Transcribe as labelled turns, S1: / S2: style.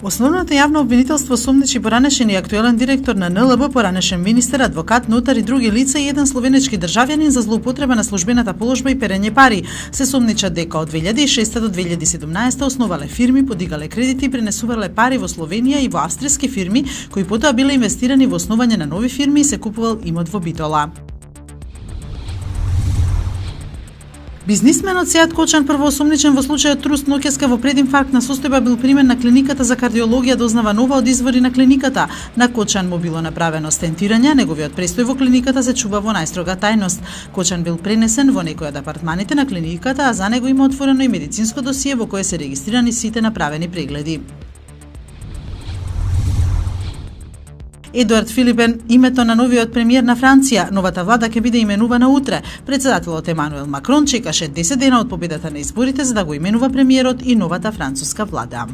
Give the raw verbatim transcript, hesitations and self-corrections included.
S1: Основното јавно обвинителство сомничи поранешен и актуелен директор на Ен Ел Б, поранешен министер, адвокат, нотар и други лица и еден словенечки државјанин за злоупотреба на службената положба и перење пари. Се сомничат дека од две илјади и шеста до две илјади и седумнаесета основале фирми, подигале кредити и пренесувале пари во Словенија и во австријски фирми, кои потоа биле инвестирани во основање на нови фирми и се купувал имот во Битола. Бизнисменот Сејат Кочан, првоосомничен во случајот Труст Ноќеска во прединфарктна состојба, бил примен на клиниката за кардиологија дознава нова од извори на клиниката. На Кочан му било направено стентирање, неговиот престој во клиниката се чува во најстрога тајност. Кочан бил пренесен во некој од апартманите на клиниката, а за него има отворено и медицинско досие во кое се регистрирани сите направени прегледи. Едуард Филипен, името на новиот премиер на Франција. Новата влада ќе биде именувана утре. Председателот Емануел Макрон чекаше десет дена од победата на изборите за да го именува премиерот и новата француска влада.